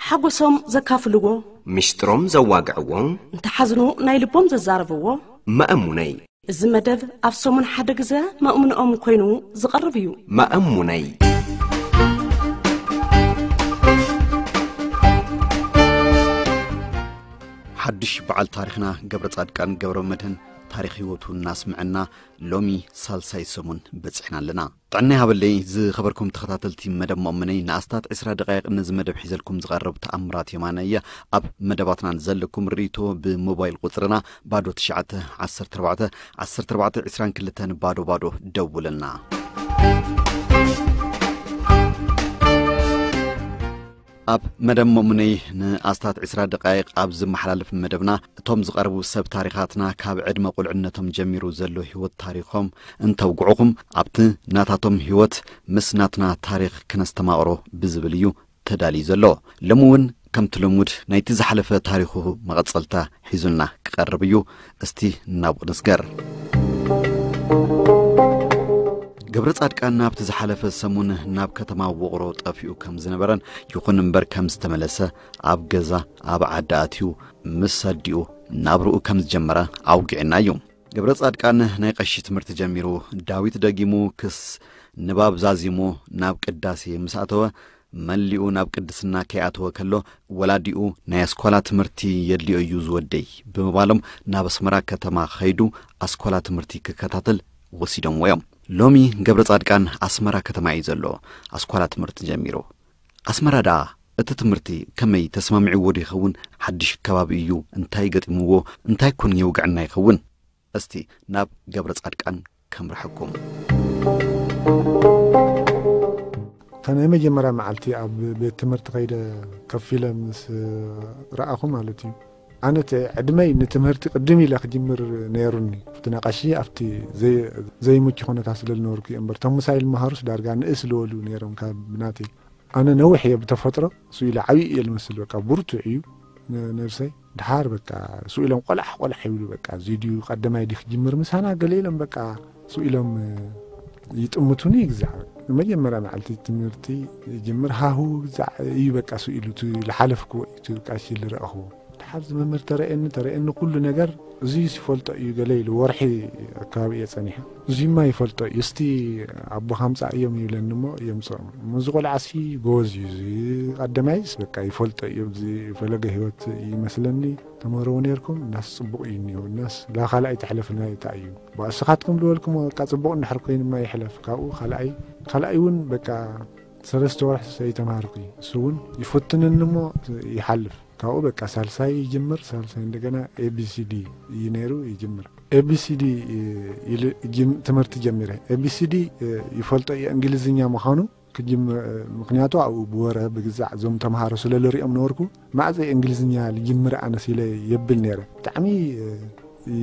ሓጎሶም ዘካፍልዎ፣ ምሽጥሮም ዘዋግዕዎ፣ እንተሓዝኑ ናይ ልቦም ዘዛረብዎ። መእሙነይ። እዚ መደብ ኣብ ሰሙን ሓደ ግዘ መእሙንኦም ኮይኑ ዝቐርብ እዩ። መእሙነይ። ሓድሽ በዓል ታሪኽና ገብረ ጻድቃን ገብረ መድህን ታሪኽ ህይወቱ እናስምዐና ሎሚ ሳልሳይ ሰሙን በጺሕና ኣለና። ጥዕና ይሃበለይ ዝኸበርኩም ተኸታተልቲ መደብ መእሙነይ፣ ንኣስታት ዕስራ ደቃይቕ ነዚ መደብ ሒዘልኩም ዝቐርብ ተኣምራት የማነ እየ። ኣብ መደባትና ንዘለኩም ርእይቶ ብሞባይል ቁጽርና ባዶ ትሽዓተ ዓሰርተ ኣርባዕተ ዓሰርተ ኣርባዕተ ዕስራን ክልተን ባዶ ባዶ ደውለልና። ኣብ መደብ መእሙነይ ንኣስታት ዕስራ ደቃይቕ ኣብ ዝመሓላለፍ መደብና እቶም ዝቐርቡ ሰብ ታሪኻትና ካብ ዕድመ ቁልዕነቶም ጀሚሩ ዘሎ ህይወት ታሪኾም እንተውግዑኹም ኣብቲ ናታቶም ህይወት ምስ ናትና ታሪኽ ክነስተማቕሮ ብዝብል እዩ ተዳልዩ ዘሎ። ሎሚ እውን ከምቲ ልሙድ ናይቲ ዝሓለፈ ታሪኹ መቐጸልታ ሒዙልና ክቐርብ እዩ። እስቲ ናብኡ ንስገር። ገብረ ጻድቃን ናብቲ ዝሓለፈ ሰሙን ናብ ከተማ ውቕሮ ጠፊኡ ከም ዝነበረን ይኹን እምበር ከም ዝተመለሰ ኣብ ገዛ ኣብ ዓዲ ኣትዩ ምስ ኣዲኡ ናብርኡ ከም ዝጀመረ ኣውጊዕና እዩ። ገብረ ጻድቃን ናይ ቀሺ ትምህርቲ ጀሚሩ ዳዊት ደጊሙ ክስ ንባብ ዛዚሙ ናብ ቅዳሴ ምስ ኣተወ መሊኡ ናብ ቅድስና ከይኣተወ ከሎ ወላዲኡ ናይ ኣስኳላ ትምህርቲ የድልዮ እዩ ዝወደይ ብምባሎም ናብ ኣስመራ ከተማ ከይዱ ኣስኳላ ትምህርቲ ክከታተል ወሲዶምዎ እዮም። ሎሚ ገብረ ጻድቃን ኣስመራ ከተማ እዩ ዘሎ። ኣስኳላ ትምህርቲ ጀሚሩ። ኣስመራ ደኣ እቲ ትምህርቲ ከመይ ተስማሚዕዎ ዶ ይኸውን? ሓድሽ ከባቢ እዩ። እንታይ ገጢምዎ? እንታይ ኮን የውግዐና ይኸውን? እስቲ ናብ ገብረ ጻድቃን ከምርሐኩም። እታ ናይ መጀመርያ መዓልቲ ኣብ ቤት ትምህርቲ ከይደ ከፊለ ምስ ረኣኹ ማለት እዩ። ኣነ እቲ ዕድመይ ንትምህርቲ ቅድም ኢለ ክጅምር ነይሩኒ። ኣብቲ ነቐሺ ኣብቲ ዘይ-፣ ዘይምቹ ኩነታት ስለ ዝነበርኩ እዩ እምበር፣ እቶም ምሳይ ዝመሃሩስ ዳርጋ ንእስ ዝበሉ ነይሮም ካብ ብናተይ። ኣነ ነዊሕ እየ ብተፈጥሮ፣ ስኡ ኢለ ዓብዪ እየ ዝመስል፣ በቃ ብርቱዕ እዩ ነ-፣ ነብሰይ። ድሓር በቃ ስኡ ኢሎም ቆላሕ ቆላሕ ይብሉ፣ በቃ እዚ ድዩ ቀዳማይ ድዩ ክጅምር ምሳና ገለ ኢሎም በቃ ስኡ ኢሎም ይጥምቱኒ። ግዛዕ መጀመርያ መዓልቲ ትምህርቲ ይጅምር ሃሁ ግዛዕ እዩ በቃ ስኡ ኢሉ እቲ ዝሓለፍክዎ እዩ እቲ ቀሺ ዝረእኽዎ። ድሓር እዚ መምህር ተረእየኒ፣ ተረእየኒ ኩሉ ነገር። እዙይስ ይፈልጦ እዩ ገለ ኢሉ፣ ወርሒ ኣከባቢ እየ ጸኒሐ። እዙይማ ይፈልጦ እዩ፣ እስቲ ኣቦኻ ኣምጻእ እዮም ይብለኒ እሞ የምጽኦም። እሞ እዚ ቆልዓሲ ጎበዝ እዩ፣ እዚ ቀዳማይስ በቃ ይፈልጦ እዩ፣ ኣብዚ ፈለገ ህይወት ይመስለኒ። ተመሃሮ እውን ነርኩም፣ እናስ ጽቡቕ እዩ እኒሆ፣ እናስ ላ ካልኣይ ተሕለፍና እታ እዩ። ብኣስኻትኩም ዝበልኩም በቃ ጽቡቕ እንድሕር ኮይኑማ ይሕለፍ፣ ካብኡ ካልኣይ፣ ካልኣይ እውን በቃ ሰለስተ ወርሒ ዘይተማሃርኩ እዩ። እሱ እውን ይፍትንኒ እሞ ይሓልፍ። ካብኡ በቃ ሳልሳይ ይጅምር፣ ሳልሳይ እንደገና ኤቢሲዲ እዩ ነይሩ ይጅምር። ኤቢሲዲ ኢሉ ጅም-፣ ትምህርቲ ጀሚረ። ኤቢሲዲ ይፈልጦ እየ እንግሊዝኛ ምዃኑ ክጅም-፣ ምኽንያቱ ኣብኡ ብወረ ብግዛዕ እዞም ተምሃሮ ስለ ልሪኦም ነበርኩ፣ ማዕዘ እንግሊዝኛ ልጅምር ኣነስ ኢለ የብል ነይረ። ብጣዕሚ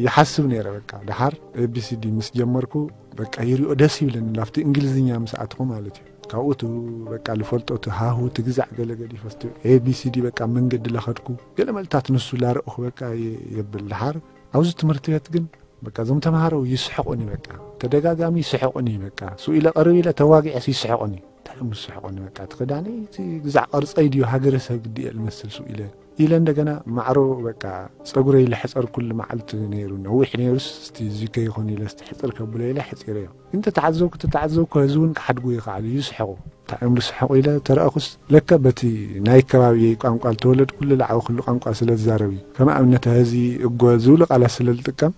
ይሓስብ ነይረ። በቃ ድሓር ኤቢሲዲ ምስ ጀመርኩ በቃ ይሪኦ ደስ ይብለኒ፣ ላፍቲ እንግሊዝኛ ምስ ኣትኹ ማለት እዩ። ካብኡ እቲ በቃ ልፈልጦ እቲ ሃሁ እቲ ግዛዕ ገለ ገዲፈ እስቲ ኤቢሲዲ በቃ መንገዲ ለኸድኩ። ገለ መልታት ንሱ ላረእኹ በቃ የ-፣ የብል ድሓር። ኣብዚ ትምህርቲ ቤት ግን በቃ እዞም ተምሃሮ ይስሕቑኒ በቃ። ተደጋጋሚ ይስሕቑኒ በቃ። ስኡ ኢለ ቀርብ ኢለ ተዋጊዐስ ይስሕቑኒ። እንታይ እዮም ዝስሕቑኒ በቃ። እቲ ክዳነይ እቲ ግዛዕ ቅርጸይ ድዩ ሃገረሰብ ግዲ እየ ልመስል ስኡ ኢለ። ኢለ እንደገና ማዕሮ በቃ ጸጉረይ ልሕጸር ኩሉ መዓልቲ ነይሩ። ነዊሕ ነይሩስ እስቲ እዚ ከይኾን ኢለ እስቲ ሕጽር ከብሎ ኢለ ሕጺረዮ። ግን ተተዓዘብኩ፣ ተተዓዘብኩ፣ ህዝቢ እውን ክሓድጉ ይኸኣሉ፣ ይስሕቑ። እንታይ እዮም ዝስሕቑ ኢለ ተረእኹስ፣ ለከ በቲ ናይ ከባቢየይ ቋንቋ፣ ዝተወለድኩሉ፣ ዝዓበኹሉ ቋንቋ ስለ ዝዛረብ እዩ። ከም ኣብነት፣ ሀዚ፣ እጎ ዝብሉ ቃላት ስለ ዝጥቀም፣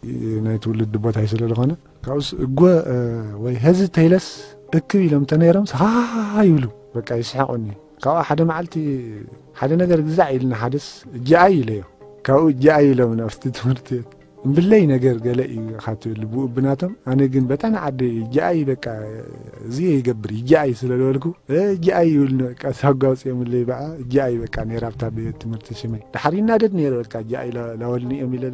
ናይ ትውልዲ ቦታይ ስለ ዝኾነ፣ ካብኡስ እጎ፣ እ፣ ወይ ሀዚ ተይለስ እክብ ኢሎም እንተነይሮምስ፣ ሃ ይብሉ። በቃ ይስሕቑኒ። ካብኡ ሓደ መዓልቲ፣ ሓደ ነገር ግዛዕ ኢልና፣ ሓደስ እጃኣይ ኢለዮ። ካብኡ እጃኣይ ኢሎም ናብቲ ትምህርቲ ቤት። እምብለይ ነገር ገለ እዩ ኢኻ ትብል ብኡ ብናቶም። ኣነ ግን በታ ንዓደይ እጃኣይ በቃ እዚ ይገብር እጃኣይ ስለ ዝበልኩ፣ እ፣ እጃኣይ ይብልኒ በቃ ሳጓ ኣውፅኦምለይ በኣ እጃኣይ በቃ ነይራ ኣብታ ቤት ትምህርቲ ሽመይ። ድሓር ይናደድ ነይረ በቃ እጃኣይ ላ-፣ ላወልኒ እዮም ኢለ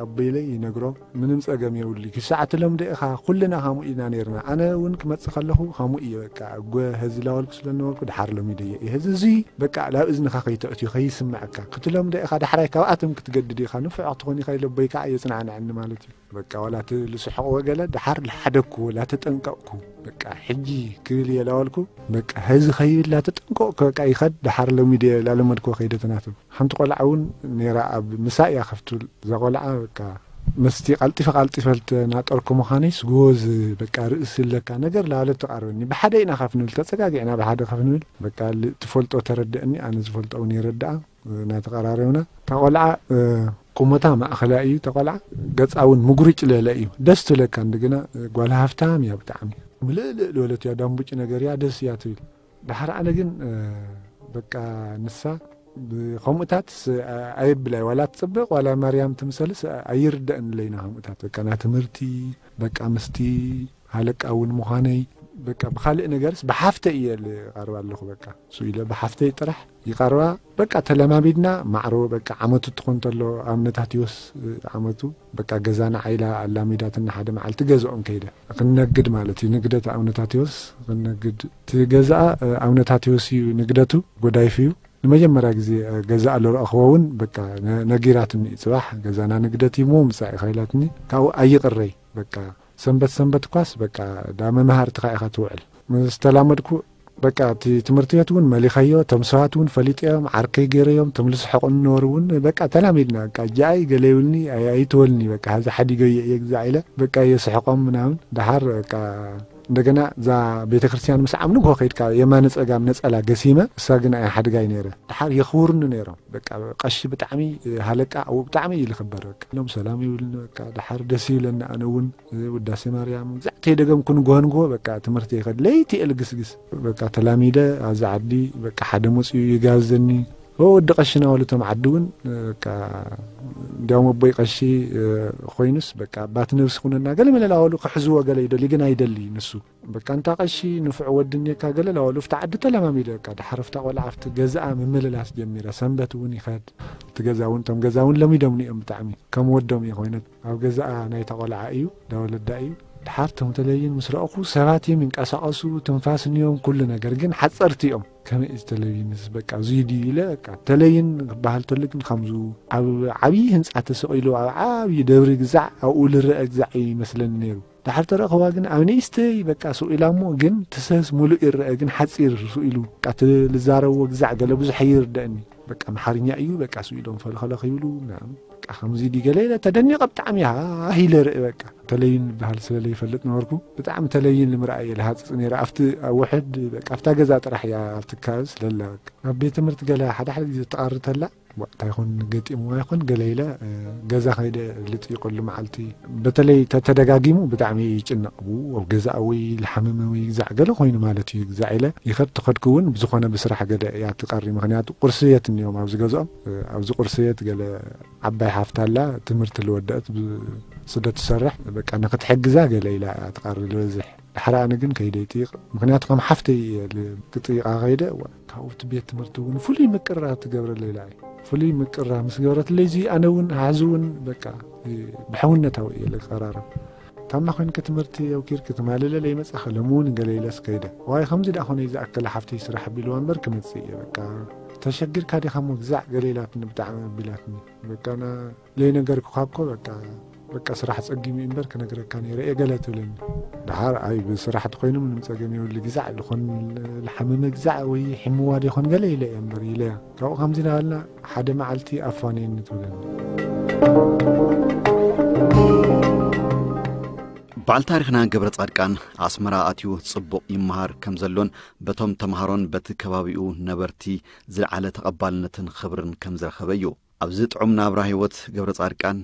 ኣቦይለይ ይነግሮ። ምንም ጸገም የብሉ። ክሳዕ ትለምዶ ኢኻ ኩልና ከምኡ ኢና ነይርና። ኣነ እውን ክመጽእ ከለኹ ከምኡ እየ በቃ እጎ ሀዚ ላወልኩ ስለ ነበርኩ ድሓር ለሚደዮ እየ። ሀዚ እዙይ በቃ ላብ እዝንኻ ከይተእትዩ ከይስምዐካ ክትለምዶ ኢኻ። ዳሕራይ ካብኣቶም ክትገድድ ኢኻ። ንፉዕ ክትኾን ኢኻ ኢለ ኣቦይ ከዓ የጽንዓኒ። ንዓንዕኒ ማለት እዩ። በቃ ዋላ እቲ ልስሕቕ ወገለ ድሓር ልሓደግኩ፣ ላተጠንቀቕኩ፣ በቃ ሕጂ ክብል እየ ላበልኩ፣ በቃ ሀዚ ኸይብል ላተጠንቀቕኩ፣ በቃ ይኸድ፣ ድሓር ሎሚ ድየ ላለመድኩ ከይደ ተናትም። ሓንቲ ቆልዓ እውን ነይራ ኣብ ምሳእ እያ ከፍትብል። እዛ ቆልዓ በቃ መስቲ ቀልጢፈ ቀልጢፈ ልተናጠርኩ ምዃነይስ ጎዝ በቃ ርእሲ ለካ ነገር ላለ ትቐርበኒ። ብሓደ ኢና ከፍ ንብል፣ ተጸጋጊዕና ብሓደ ከፍ ንብል፣ በቃ ል-፣ ትፈልጦ ተረድእኒ፣ ኣነ ዝፈልጦ እውን ይረድኣ። እናተቐራረብና፣ እታ ቆልዓ፣ እ፣ ቁመታ ማእኸላይ እዩ። እታ ቆልዓ ገጻ እውን ምጉርጭ ለለ እዩ። ደስ ትብለካ። እንደገና፣ እ፣ ጓል ሃፍታም እያ ብጣዕሚ። ምልእልእ ዝበለት እያ፣ ዳምቡጭ ነገር እያ፣ ደስ እያ ትብል። ድሓር ኣነ ግን፣ እ፣ በቃ ንሳ ብ-፣ ከምኡታት ስ-፣ ኣ-፣ ኣየብላይ፣ ዋላ ትጽብቕ፣ ዋላ ማርያም ትምሰልስ፣ ኣ-፣ ኣይርደእን ለይና ከምኡታት። በቃ ናይ ትምህርቲ፣ በቃ ምስቲ ሃለቃ እውን ምዃነይ፣ በቃ ብኻልእ ነገርስ ብሓፍተይ እየ ልቐርባ ኣለኹ። በቃ እሱ ኢለ ብሓፍተይ ጥራሕ ይቐርባ። በቃ ተለማሚድና ማዕሮ፣ በቃ ዓመቱ ትኾን ተሎ፣ ኣብ ነታቲዎስ፣ እ፣ ዓመቱ፣ በቃ ገዛና ዓይላ ኣላሚዳትና ሓደ መዓልቲ ገዝኦም ከይደ። ክንነግድ ማለት እዩ፣ ንግደት ኣብ ነታቲዎስ ክንነግድ። እቲ ገዛኣ፣ እ፣ ኣብ ነታቲዎስ እዩ ንግደቱ፣ ጎዳይፍ እዩ። ንመጀመርያ ግዜ፣ እ፣ ገዛኣ ልረእኽዎ እውን፣ በቃ ነ-፣ ነጊራትኒ፣ "ጽባሕ ገዛና ንግደት እዩ እሞ ምጻእ ኢኻ" ኢላትኒ። ካብኡ ኣይቕረይ፣ በቃ ሰንበት ሰንበት እኳስ በቃ ዳ መምሃርትኻ ኢኻ ትውዕል። ምስ ተላመድኩ በቃ እቲ ትምህርቲ ቤት እውን መሊኸዮ፣ እቶም ሰባት እውን ፈሊጠዮም፣ ዓርከይ ገይረዮም፣ እቶም ልስሕቑኒ ነበሩ እውን በቃ ተላሚድና። በቃ እጃኣይ ገለ ይብልኒ፣ ኣይ-፣ ኣይትበልኒ፣ በቃ ሀዚ ሓዲገዮ እየ ግዛዕ ኢለ በቃ የስሕቖም ምናምን። ደሓር በቃ እንደገና እዛ ቤተ ክርስቲያን ምስ ዓም ንግሆ ከይድካ የማነ ጸጋም ነጸላ ገሲመ፣ እሳ ግን ኣይ ሓድጋይ ነይረ። ደሓር የኽብሩኒ ነይሮም። በቃ ቀሺ ብጣዕሚ ሃለቃ ኣብኡ ብጣዕሚ እዩ ልኽበር። በቃ ኢሎም ሰላም ይብልኒ። በቃ ደሓር ደስ ይብለኒ። ኣነ እውን ውዳሴ ማርያም ግዛዕ ተይደገምኩ ንግሆ ንግሆ በቃ ትምህርቲ ይኸድ። ለይቲ እየ ልግስግስ። በቃ ተላሚደ ኣብዚ ዓዲ በቃ ሓደ መፅኡ ይጋብዘኒ። ኦ ወዲ ቀሺ ናበሉ እቶም ዓዲ እውን በቃ እንዲያውም ኣቦይ ቀሺ ኮይኑስ በቃ ኣባት ነብሲ ኩነና ገለ መለ ናበሉ ክሕዝዎ ገለ ይደሊ ግን ኣይደሊ ንሱ። በቃ እንታ ቀሺ ንፉዕ ወዲ እኒካ ገለ ናበሉ ኣብቲ ዓዲ ተለማሚደ። በቃ ደሓር ኣብታ ቆልዓ ኣብቲ ገዛኣ ምምልላስ ጀሚረ። ሰንበት እውን ይኸድ። እቲ ገዛ እውን እቶም ገዛ እውን ለሚዶምኒ እዮም ብጣዕሚ ከም ወዶም እዩ ኮይነ። ኣብ ገዛኣ ናይታ ቆልዓ እዩ፣ ዳወለዳ እዩ። ደሓር እቶም ተለይን ምስ ረእኹ ሰባት እዮም ይንቀሳቐሱ፣ ትንፋስ እኒኦም ኩሉ ነገር ግን ሓፀርቲ እዮም። ከመይ እዩ ተለይንስ በቃ እዙይ ድዩ ኢለ በቃ ተለይን ክበሃል ተሎ ግን ከምዙ ኣብ ዓብዪ ህንፃ ተሰቒሉ ኣብ ዓብዪ ደብሪ ግዛዕ ኣብኡ ልረአ ግዛዕ እዩ ይመስለኒ ነይሩ። ደሓር ተረእኽዋ ግን ኣብ ንእሽተይ በቃ ስቕ ኢላ እሞ ግን ትሰስ ሙሉእ ይረአ ግን ሓፂር ስቕ ኢሉ በቃ እቲ ልዛረብዎ ግዛዕ ገለ ብዙሕ ኣይርደእኒ። በቃ ኣምሓርኛ እዩ በቃ ስቕ ኢሎም ፈልኸለኽ ይብሉ ምናምን። በቃ ከምዚ ድዩ ገለ ኢለ ተደኒቐ ብጣዕሚ ሃህ ኢለ ርኢ በቃ። ተለይን ዝበሃል ስለ ዘይፈልጥ ነበርኩ። ብጣዕሚ ተለይን ልምርኣየ ልሃፅፅ ነይረ። ኣብቲ ኣብ ውሕድ በቃ ኣብታ ገዛ ጥራሕ እያ ኣብቲ ከባቢ ስለላ በቃ። ኣብ ቤት ትምህርቲ ገለ ሓደ ሓደ ግዜ ትቐሪ ተላ ዋ፣ እንታይ ይኾን ገጢምዋ ይኾን ገለ ኢለ፣ እ፣ ገዛ ከይደ ልጥይቐሉ መዓልቲ። በተለይ ተተደጋጊሙ ብጣዕሚ ይጭነቕ። ው፣ ኣብ ገዛ ወይ ልሓምመ ወይ ግዛዕ ገለ ኮይኑ ማለት እዩ። ግዛዕ ኢለ ይኸድ ተኸድኩ እውን ብዝኾነ ብስራሕ ገለ እያ ትቐሪ። ምኽንያቱ ቁርሲ ቤት እኒኦም ኣብዚ ገዝኦም። እ፣ ኣብዚ ቁርሲ ቤት ገለ ዓባይ ሓፍታ ኣላ፣ ትምህርቲ ልወደአት ብ-፣ ስደት ትሰርሕ። በቃ ንኽትሕግዛ ገለ ኢላ እያ ትቐሪ ልበዝሕ። ድሕሪ ኣነ ግን ከይደ ይጥይቕ። ምኽንያቱ ከም ሓፍተይ እየ ል-፣ ክጥይቓ ከይደ፣ እዋ፣ ካብኡ እቲ ቤት ትምህርቲ እውን ፍሉይ ምቅርራብ ትገብረለይ ኢላ እየ። ፍሉይ ምቅርራብ ምስ ገበረትለይ፣ እዚ ኣነ እውን፣ ሓዚ እውን፣ በቃ፣ እ፣ ብሕውነታዊ እየ ልቀራረብ። ታማ ኮይንኪ ትምህርቲ ኣውኪርኪ ትማልለ ለይመጻኺ፣ ሎሚ እውን ገለ ኢለስ ከይደ። ዋይ፣ ከምዚ ደኣ ኾነ ዝኣከለ ሓፍተይ ስራሕ ኣቢልዋ እምበር ክመጽእ እየ፣ በቃ። ተሸጊርካ ዲኻ እሞ ግዛዕ ገለ ኢላትኒ፣ ብጣዕሚ ኣቢላትኒ። በቃ፣ ና-፣ ለይነገርኩኻ እኮ በቃ፣ በቃ ስራሕ ጸጊሙ እዩ እምበር ክነግረካ ነይረ እየ ገለ ትብለኒ። ደሓር ኣይ ብስራሕ ተኾይኑ ምንም ጸገም የብሉ ግዛዕ ልኾን ልሓመመ ግዛዕ ወይ ሒምዋ ዶ ይኾን ገለ ኢለ እየ እምበር ኢለያ። ካብኡ ከምዚ እናበልና ሓደ መዓልቲ ኣፋንየኒ ትብለኒ። በዓል ታሪኽና ገብረ ጻድቃን ኣስመራ ኣትዩ ጽቡቕ ይመሃር ከም ዘሎን በቶም ተምሃሮን በቲ ከባቢኡ ነበርቲ ዝለዓለ ተቐባልነትን ኽብርን ከም ዝረኸበ እዩ። ኣብዚ ጥዑም ናብራ ህይወት ገብረ ጻድቃን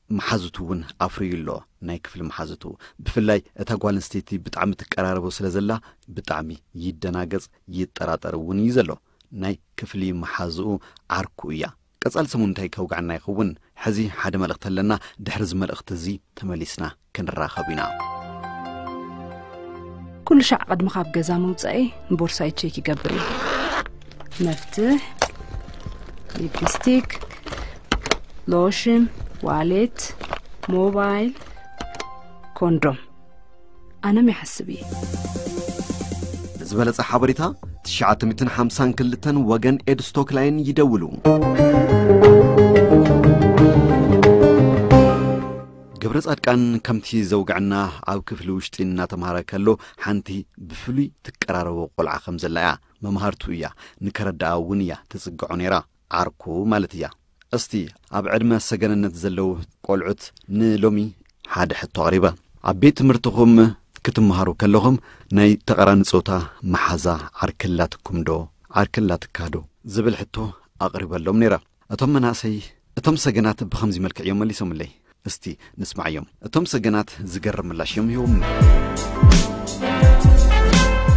መሓዙቱ እውን ኣፍርዩ ኣሎ። ናይ ክፍሊ መሓዙቱ፣ ብፍላይ እታ ጓል ኣንስተይቲ ብጣዕሚ ትቀራረቦ ስለ ዘላ ብጣዕሚ ይደናገጽ ይጠራጠር እውን እዩ ዘሎ። ናይ ክፍሊ መሓዝኡ ዓርኩ እያ። ቀጻሊ ሰሙን እንታይ ከውግዓና ይኸውን? ሕዚ ሓደ መልእኽቲ ኣለና፣ ድሕሪ እዚ መልእኽቲ እዚ ተመሊስና ክንራኸብ ኢና። ኩሉ ሻዕ ቅድሚ ካብ ገዛ ምውጻኤ ንቦርሳይ ቼክ ይገብር እየ። መፍትሕ፣ ሊፕስቲክ፣ ሎሽን፣ ዋሌት፣ ሞባይል፣ ኮንዶም። ኣነም ይሓስብ እየ። ንዝበለጸ ሓበሬታ ትሽዓተ ሚእትን ሓምሳን ክልተን ወገን ኤድ ስቶክ ላይን ይደውሉ። ገብረ ጻድቃን ከምቲ ዘውግዕና ኣብ ክፍሊ ውሽጢ እናተምሃረ ከሎ ሓንቲ ብፍሉይ ትቀራረቦ ቆልዓ ከም ዘላ እያ። መምሃርቱ እያ፣ ንከረድኣ እውን እያ ትጽግዖ ነይራ። ዓርኩ ማለት እያ። እስቲ ኣብ ዕድመ ሰገንነት ዘለዉ ቆልዑት ንሎሚ ሓደ ሕቶ ኣቕሪበ። ኣብ ቤት ትምህርትኹም ክትመሃሩ ከለኹም ናይ ተቓራኒ ጾታ መሓዛ ዓርኪ ኣላትኩም ዶ ዓርኪ ኣላትካ ዶ ዝብል ሕቶ ኣቕሪበሎም ነይረ። እቶም መናእሰይ፣ እቶም ሰገናት ብኸምዚ መልክዕ እዮም መሊሶምለይ። እስቲ ንስማዓዮም። እቶም ሰገናት ዝገርም ምላሽ እዮም ሂቦም።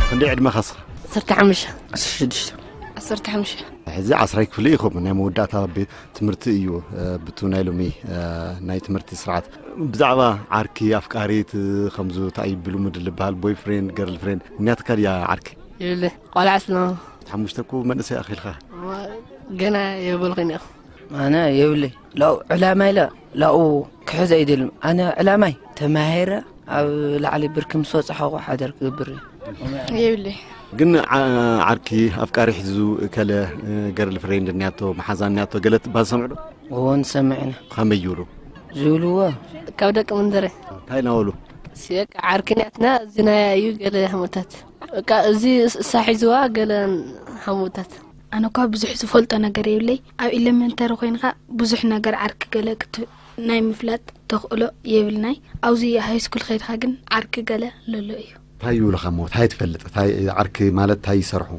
ክንደይ ዕድመኻ እስኻ? ዓሰርተ ሓሙሽተ። ዓሰርተ ሽዱሽተ። ዓሰርተ ሓሙሽተ። ሕዚ ዓስራይ ክፍሊ ኢኹም። ናይ መወዳእታ ቤት ትምህርቲ እዩ፣ እ፣ ብቱ ናይ ሎሚ፣ እ፣ ናይ ትምህርቲ ስርዓት። ብዛዕባ ዓርኪ፣ ኣፍቃሪት፣ እ፣ ከምዙ እንታይ እዩ ብልሙድ ልበሃል፣ ቦይፍሬንድ፣ ገርልፍሬንድ፣ እኒያትካ ድያ ዓርኪ? ይብለ፣ ቆልዓ ስለ ሓሙሽተ እኮ መንእሰይ ኣኺልካ። ገና የብልኽን ኢኹ። ኣነ የብለይ። ላኡ ዕላማ ኢለ ላኡ ክሕዝ ኣይደልም። ኣነ ዕላማይ ተማሂረ ኣብ ላዕሊ ብርኪ ምስ ወጻኹ ሓደር ክገብር እዩ። የብለይ። ግን ዓ-፣ ዓርኪ ኣፍቃሪ ሒዙ እከለ፣ እ፣ ገርል ፍሬንድ እኒያቶ፣ መሓዛ እኒያቶ ገለ ትባል ሰምዑ ዶ? እዎ ንሰምዕ ኢና። ከመይ ይብሉ? ዝብልዎ? ካብ ደቂ መንደረ። እንታይ እናበሉ? በቃ ዓርኪ እኒያትና፣ እዚ ናይ እዩ ገለ ሓሙታት። በቃ እዚ እሳ ሒዝዋ ገለ ሓሙታት። ኣነ እኳ ብዙሕ ዝፈልጦ ነገር የብለይ። ኣብ ኢለመንተሪ ኮይንካ ብዙሕ ነገር ዓርኪ ገለ ክት-፣ ናይ ምፍላጥ ተኽእሎ የብልናይ። ኣብዚ ሃይስኩል ከይድካ ግን ዓርኪ ገለ ለሎ እዩ። እንታይ ይብሉኻ እሞ? እንታይ ትፈልጥ? እንታይ ዓርኪ ማለት እንታይ ይሰርሑ?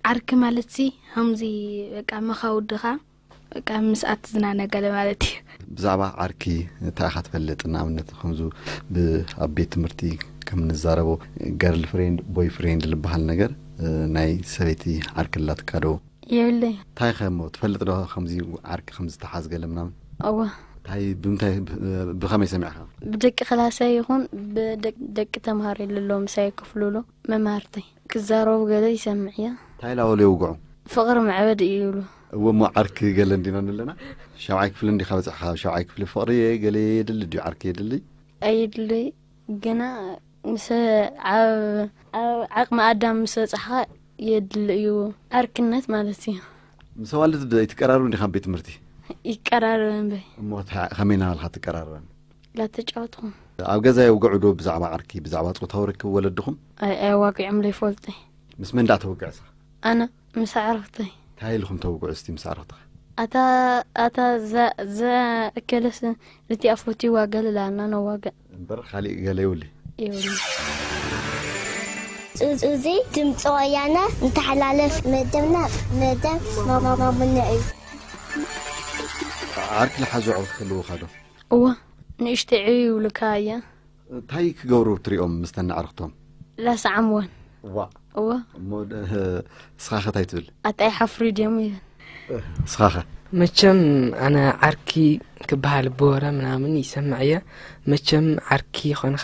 ዓርኪ ማለት ሲ ከምዚ በቃ መኻውድኻ በቃ ምስኣ ትዝናነ ገለ ማለት እዩ። ብዛዕባ ዓርኪ እንታይ ኢኻ ትፈልጥ? ንኣብነት ከምዚ ብ-፣ ኣብ ቤት ትምህርቲ ከም ንዛረቦ ገርል ፍሬንድ፣ ቦይ ፍሬንድ ዝበሃል ነገር፣ እ፣ ናይ ሰበይቲ ዓርኪ ኣላትካ ዶ? የብለይ። እንታይ ከ እሞ ትፈልጥ ዶ ከምዚ ዓርኪ ከም ዝተሓዝ ገለ ምናምን? እወ። እንታይ፣ ብምንታይ፣ ብ-፣ ብኸመይ ሰሚዕኻ? ብደቂ ክላሰይ ይኹን ብደቅ-፣ ደቂ ተምሃሮ ለለዉ ምሳይ ክፍልሎ መምሃርተይ ክዛረቡ ገለ ይሰምዕ እየ። እንታይ ኢላ በሉ የውግዑ? ፍቕሪ መዕበዲ እዩ ይብሉ። እወ እሞ ዓርኪ ገለ እንዲና ንለና? ሻብዓይ ክፍሊ እንዲኻ በጽሕኻ፣ ሻብዓይ ክፍሊ ፍቕሪ ገለ የድሊ ድዩ? ዓርኪ የድሊ? ኣየድልይ። ግና ምስ ኣብ፣ ኣብ ዓቕሚ ኣዳም ምስ በጻሕኻ የድሊ እዩ። ዓርክነት ማለት እዩ። ምስ ኣዋልድ ዶ ኣይትቀራረቡ እንዲኻ ኣብ ቤት ትምህርቲ? ይቀራረብ እምበይ። እሞ ታ-፣ ከመይ እናበልካ ትቀራረበን? ላተጫወትኹም። ኣብ ገዛ የውግዑ ዶ ብዛዕባ ዓርኪ፣ ብዛዕባ ጾታዊ ርክብ ወለድኹም? ኣይ፣ ኣየዋግዖም ዘይፈልጠይ። ምስ መን ደኣ ተውግዕ እስኻ? ኣነ ምስ ኣዕሩኽተይ። እንታይ ኢልኹም ተውግዑ እስቲ ምስ ኣዕሩኽትኻ? ኣታ፣ ኣታ እዛ፣ እዛ እከለስ ነቲኣ ፈትይዋ ገለ ኢላና ነዋግዕ። እምበር ካሊእ ገለ የብሉይ። የብሉን። እዚ ድምፂ ወያነ እንተሓላለፍ መደብና መደብ ማማሙነ እዩ። ዓርኪ ልሓዙ ኣዕሩኽ ክህልውኻ ዶ? እወ፣ ንእሽተይ ዕብይ ይብሉካ እያ። እንታይ ክገብሩ ትሪኦም ምስተን ኣዕሩኽቶም? ላስዓምወን። ዋእ። እወ። እሞ ደ-፣ ንስኻ ኸ እንታይ ትብል? ኣታ ይሓፍሩ ድዮም ይብል። ንስኻ ኸ? መቸም ኣነ ዓርኪ ክበሃል ብወረ ምናምን ይሰምዕ እየ። መቸም ዓርኪ ኾንኻ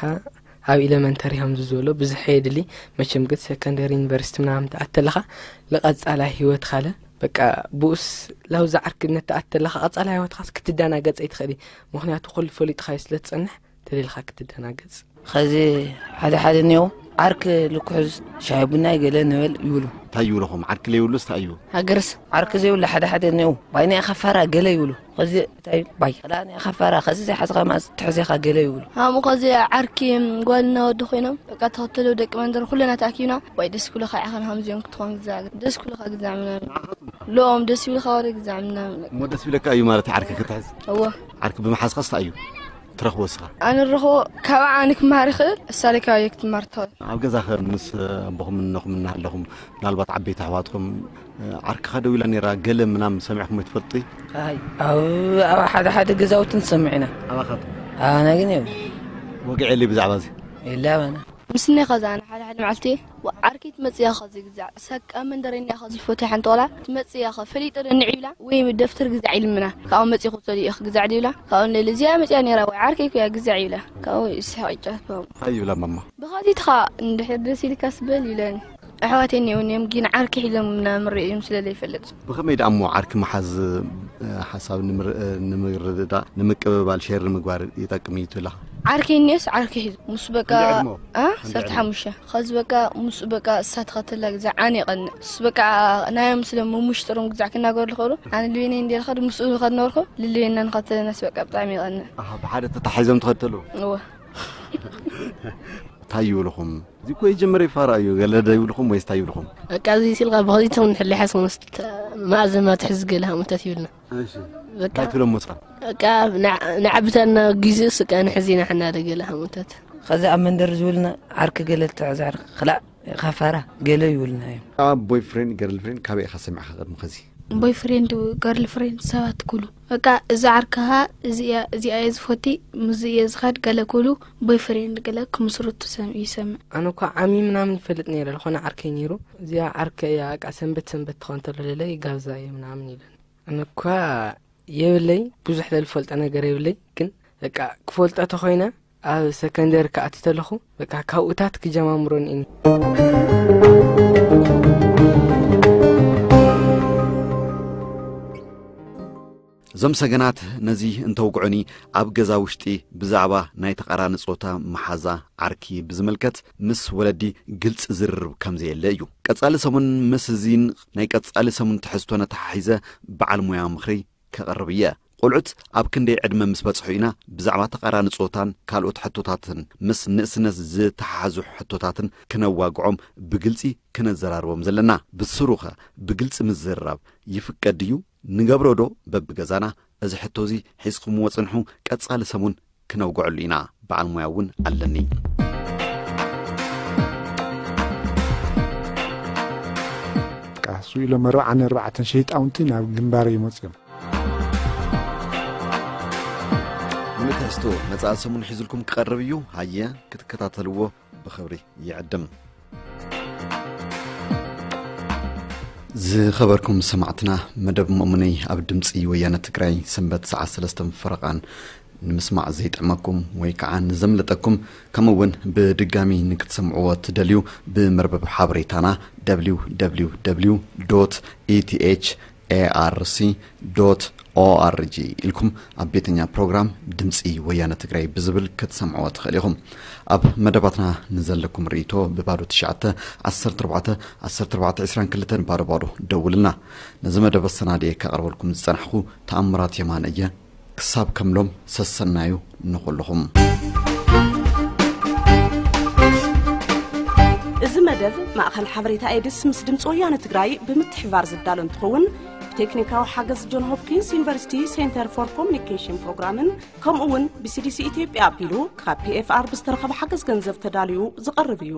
ኣብ ኢለመንተሪ ከምዚ ዝበሎ ብዙሕ የድሊ። መቸም ግን ሰከንደሪ ዩኒቨርሲቲ ምናምን ትኣተለኻ ንቐጻላይ ህይወትኻ ለ በቃ ብኡስ ላውዛ ዓርክነት ትኣተለኻ ቀጻላይ ህይወትኻስ ክትደናገጽ ኣይትኽእሊ። ምኽንያቱ ኩሉ ፈሊጥኻዮ ስለ ትጸንሕ ተደሊኻ ክትደናገጽ። ኸዚ ሓደ ሓደ እኒኦ ዓርክ ልኩሕዝ ሻሂ ቡናይ ገለ ንበል ይብሉ። እንታይ ይብሉ ኹም? ዓርክ ለይብሉስ እንታይ እዩ? ሃገርስ? ዓርክ ዘይብሉ ሓደ ሓደ እኒኦ ባይ ናይ ኸፋራ ገለ ይብሉ። ኸዚ እንታይ ባይ ኸላ ናይ ኸፋራ ኸዚ ዘይሓዝኻ ማስ ትሕዜኻ ገለ ይብሉ። ሃምኡ ኸዚ ዓርኪ ጓልና ወዲ ኮይኖም በቃ ተኸተሉ ደቂ መንደር ኩለና ተኣኪብና ዋይ ደስ ክብለኻ ኢኻ ንሃምዚኦም ክትኾን ግዛዕ ደስ ክብለኻ ግዛዕ ምናምን። ሎም ደስ ይብልኻ ወረ ግዛዕ ምናምን። እሞ ደስ ይብለካ እዩ ማለት ዓርኪ ክትሕዝ? እወ። ዓርኪ ብምሓዝኻስ እንታይ እዩ ትረኽቦ እስኻ? ኣነ ንረኽቦ ካብ ኣነ ክመሃር ይኽእል፣ እሳ ደይ ካባየ ክትመሃር ትኽእል። ኣብ ገዛኸ ምስ ኣቦኹምን እኖኹምን እናሃለኹም ምናልባት ዓበይቲ ኣሕዋትኩም፣ እ፣ ዓርክኻ ደው ኢላ ነይራ ገለ ምናምን ሰሚዕኩም ኣይትፈልጡ? ኣይ፣ ኣብ፣ ኣብ ሓደ ሓደ ገዛውቲ ንሰምዕ ኢና። ኣባኻትኩም? ኣባና ግን የብሉ። ወግዒ የለይ ብዛዕባ እዚ? የለ ኣባና። ምስ እኒኻ ዝኣነ ሓደ ሓደ መዓልቲ ዓርከይ ትመጽእ እያ ኸዚ ግዛዕ። ሳቃ መንደረኛ ኸዚ ፎቶ ሓንቲ ቆልዓ ትመጽእ እያ ኸ ፈሊጠ ዶ ንዒ ኢላ ወይ ደፍተር ግዛዕ ኢልምና። ካብኡ መጺኹ ሰዲኡ ግዛዕ ድብላ። ካብኡ ንልሊ እዚኣ መጺኣ ነይራ ወይ ዓርከይ እኮ እያ ግዛዕ ይብላ። ካብኡ ይስሕቕ ይጫወት ብኡ። እንታይ ይብላ ማማ? ብኸዚ ትኻ እንድሕር ደስ ኢልካስ በል ይብለኒ። ኣሕዋት እኒኦን እዮም፣ ግን ዓርኪ ሒዞም እናምርኡ እዮም ስለ ዘይፈልጥ። ብኸመይ ደኣ እሞ ዓርኪ ምሓዝ፣ እ፣ ሓሳብ ንምር-፣ እ፣ ንምርድዳእ፣ ንምቅብባል፣ ሼር ንምግባር ይጠቅም እዩ ትብላ? ዓርኪ እኒኦስ ዓርኪ ሒዙ ምስ በቃ፣ ክንደይ ዕድመ? እ? ክንደይ ዕድመ? ዓሰርተ ሓሙሽተ። ከዚ በቃ ምስ በቃ እሳ ትኸተላ ግዛዕ ኣነ ይቐንእ። ምስ በቃ ናዮም ስለ ምሙሽጥሮም ግዛዕ ክናገሩ ዝኽእሉ፣ ኣነ ልቤነይ እንደ ልኸድ ምስኡ ዝኸድ ነበርኩ፣ ልልቤና ንኸተለናስ በቃ ብጣዕሚ ይቐንእ። ኣሃ፣ ብሓደ ተታሒዞም ትኸተሉ? እወ። እንታይ ይብልኹም? እዚ እኮ የጀመረ ይፋራ እዩ፣ ገለ ዶ ይብልኹም ወይስ እንታይ ይብልኹም? በቃ እዚ ሲልካ ብኸዚቶም ንሕሊ ሓስኹም ስት-፣ ማእዘን ማትሕዚ ገለ ሃሙታት ይብልና። እሺ። በቃ እንታይ ትብሎም ወጻ? በቃ ንዓ-፣ ንዓብታና ግዜ ስቃ ንሕዚና ሕና ደ ገለ ሃሙታት። ከዚ ኣብ መንደር ዝብልና ዓርኪ ገለ ትሕዝ ዓርኪ ክላእ ኢኻ ፋራ ገለ ይብልና እዮም። ኣብ ቦይፍሬንድ ገርልፍሬንድ ካበይ ኢኻ ሰሚዕካ ቅድሚ ከዚ? ቦይፍሬንድ ገርልፍሬንድ ሰባት ኩሉ በቃ እዚ ዓርክኻ እዚ እያ፣ እዚኣ እየ ዝፈቲ፣ ምስዚ እየ ዝኸድ ገለ ኩሉ ቦይፍሬንድ ገለ ክምስርቱ ሰም-፣ ይሰምዕ። ኣነ እኳ ዓሚ ምናምን ይፈልጥ ነይረ፣ ዝኾነ ዓርከይ ነይሩ። እዚኣ ዓርከይ እያ፣ በቃ ሰንበት ሰንበት ትኾን ተሎ ለለ ይጋብዛ እየ ምናምን ይብለኒ። ኣነ እኳ የብለይ፣ ብዙሕ ለልፈልጦ ነገር የብለይ፣ ግን በቃ ክፈልጦ ተኾይነ ኣብ ሰከንደሪ ክኣቲ ተለኹ፣ በቃ ካብኡታት ክጀማምሮን እኒ። እዞም ሰገናት ነዚ እንተውግዑኒ፣ ኣብ ገዛ ውሽጢ ብዛዕባ ናይ ተቓራኒ ጾታ መሓዛ ዓርኪ ብዝምልከት ምስ ወለዲ ግልጺ ዝርርብ ከም ዘየለ እዩ። ቀጻሊ ሰሙን ምስ እዚን ናይ ቀጻሊ ሰሙን ትሕዝቶን ኣተሓሒዘ በዓል ሞያ ምኽሪ ከቕርብ እየ። ቆልዑት ኣብ ክንደይ ዕድመ ምስ በጽሑ ኢና ብዛዕባ ተቓራኒ ጾታን ካልኦት ሕቶታትን ምስ ንእስነት ዝተሓሓዙ ሕቶታትን ክነዋግዖም ብግልጺ ክነዘራርቦም ዘለና? ብስሩኸ ብግልጺ ምዝርራብ ይፍቀድ ድዩ? ንገብሮ ዶ በብገዛና? እዚ ሕቶ እዚ ሒዝኩምዎ ጽንሑ፣ ቀጻሊ ሰሙን ክነውግዐሉ ኢና። በዓል ሞያ እውን ኣለኒ። ቃሱ ኢሎም ኣርባዓን ኣርባዕተን ሸይጣውንቲ ናብ ግንባር ይመጽኦም። ንምትሕዝቶ መጻኢ ሰሙን ሒዙልኩም ክቐርብ እዩ። ሃየ ክትከታተልዎ ብኽብሪ ይዕድም። ዝኸበርኩም ሰማዕትና፣ መደብ መእሙነይ ኣብ ድምፂ ወያነ ትግራይ ሰንበት ሰዓት ሰለስተ ፈረቓን ንምስማዕ ዘይጥዕመኩም ወይ ከዓ ንዘምለጠኩም፣ ከምኡ እውን ብድጋሚ ንክትሰምዕዎ ትደልዩ፣ ብመርበብ ሓበሬታና www.ethARC.org ኢልኩም ኣብ ቤተኛ ፕሮግራም ድምፂ ወያነ ትግራይ ብዝብል ክትሰምዕዎ ትኽእል ኢኹም። ኣብ መደባትና ንዘለኩም ርእይቶ ብባዶ ትሽዓተ ዓሰርተ ኣርባዕተ ዓሰርተ ኣርባዕተ ዕስራን ክልተን ባዶ ባዶ ደውልና። ነዚ መደብ ኣሰናድየ ከቕርበልኩም ዝጸናሕኩ ተኣምራት የማነ እየ። ክሳብ ከምሎም ሰሰናዩ ንኹልኹም። እዚ መደብ ማእኸል ሓበሬታ ኤድስ ምስ ድምፂ ወያነ ትግራይ ብምትሕብባር ዝዳሎ እንትኸውን፣ ብቴክኒካዊ ሓገዝ ጆን ሆፕኪንስ ዩኒቨርሲቲ ሴንተር ፎር ኮሚኒኬሽን ፕሮግራምን ከምኡ እውን ብሲዲሲ ኢትዮጵያ ኣቢሉ ካብ ፒኤፍኣር ብዝተረኸበ ሓገዝ ገንዘብ ተዳልዩ ዝቐርብ እዩ።